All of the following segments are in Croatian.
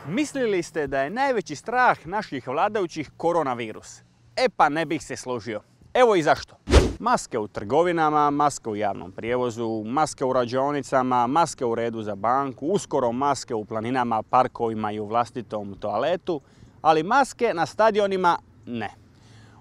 Mislili ste da je najveći strah naših vladajućih koronavirus? E pa ne bih se složio. Evo i zašto. Maske u trgovinama, maske u javnom prijevozu, maske u rađaonicama, maske u redu za banku, uskoro maske u planinama, parkovima i u vlastitom toaletu, ali maske na stadionima ne.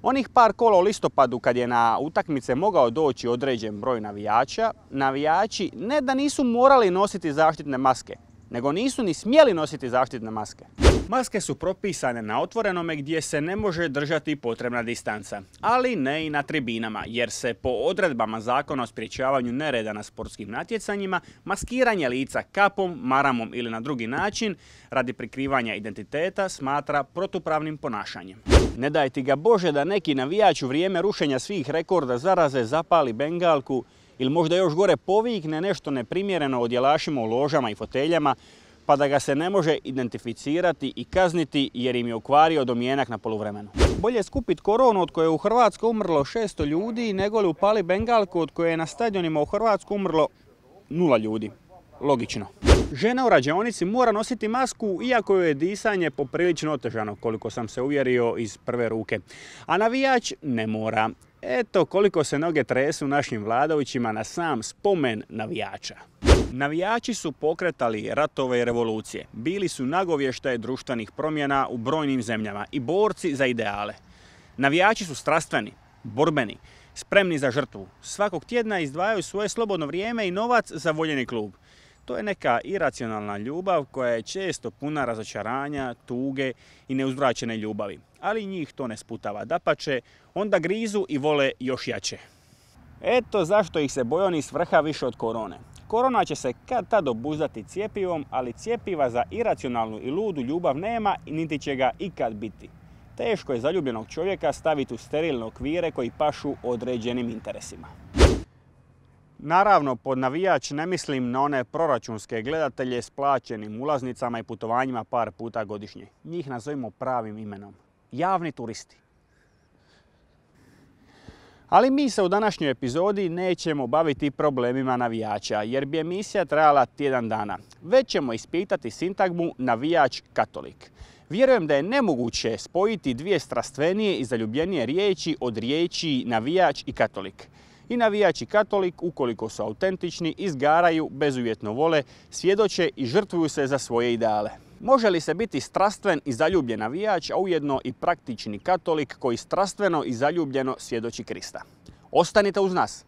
Onih par kola u listopadu kad je na utakmice mogao doći određen broj navijača, navijači ne da nisu morali nositi zaštitne maske, nego nisu ni smjeli nositi zaštitne maske. Maske su propisane na otvorenome gdje se ne može držati potrebna distanca, ali ne i na tribinama, jer se po odredbama Zakona o sprječavanju nereda na sportskim natjecanjima maskiranje lica kapom, maramom ili na drugi način radi prikrivanja identiteta smatra protupravnim ponašanjem. Ne daj ti ga Bože da neki navijač u vrijeme rušenja svih rekorda zaraze zapali bengalku ili možda još gore povikne nešto neprimjereno o djelašima u ložama i foteljama, pa da ga se ne može identificirati i kazniti jer im je okvario domjenak na poluvremenu. Bolje je skupiti koronu od koje je u Hrvatskoj umrlo 600 ljudi nego li upali bengalku od koje je na stadionima u Hrvatskoj umrlo 0 ljudi. Logično. Žena u rađaonici mora nositi masku iako joj je disanje poprilično otežano, koliko sam se uvjerio iz prve ruke. A navijač ne mora. Eto koliko se noge tresu našim vladajućima na sam spomen navijača. Navijači su pokretali ratove i revolucije, bili su nagovještaje društvenih promjena u brojnim zemljama i borci za ideale. Navijači su strastveni, borbeni, spremni za žrtvu. Svakog tjedna izdvajaju svoje slobodno vrijeme i novac za voljeni klub. To je neka iracionalna ljubav koja je često puna razočaranja, tuge i neuzvraćene ljubavi. Ali njih to ne sputava, dapače, onda grizu i vole još jače. Eto zašto ih se boje oni s vrha više od korone. Korona će se kad tad obuzdati cjepivom, ali cjepiva za iracionalnu i ludu ljubav nema i niti će ga ikad biti. Teško je zaljubljenog čovjeka staviti u sterilne okvire koji pašu određenim interesima. Naravno, pod navijač ne mislim na one proračunske gledatelje s plaćenim ulaznicama i putovanjima par puta godišnje. Njih nazovimo pravim imenom. Javni turisti. Ali mi se u današnjoj epizodi nećemo baviti problemima navijača, jer bi emisija trajala tjedan dana. Već ćemo ispitati sintagmu navijač-katolik. Vjerujem da je nemoguće spojiti dvije strastvenije i zaljubljenije riječi od riječi navijač i katolik. I navijač i katolik, ukoliko su autentični, izgaraju, bezuvjetno vole, svjedoče i žrtvuju se za svoje ideale. Može li se biti strastven i zaljubljen navijač, a ujedno i praktični katolik koji strastveno i zaljubljeno svjedoči Krista? Ostanite uz nas!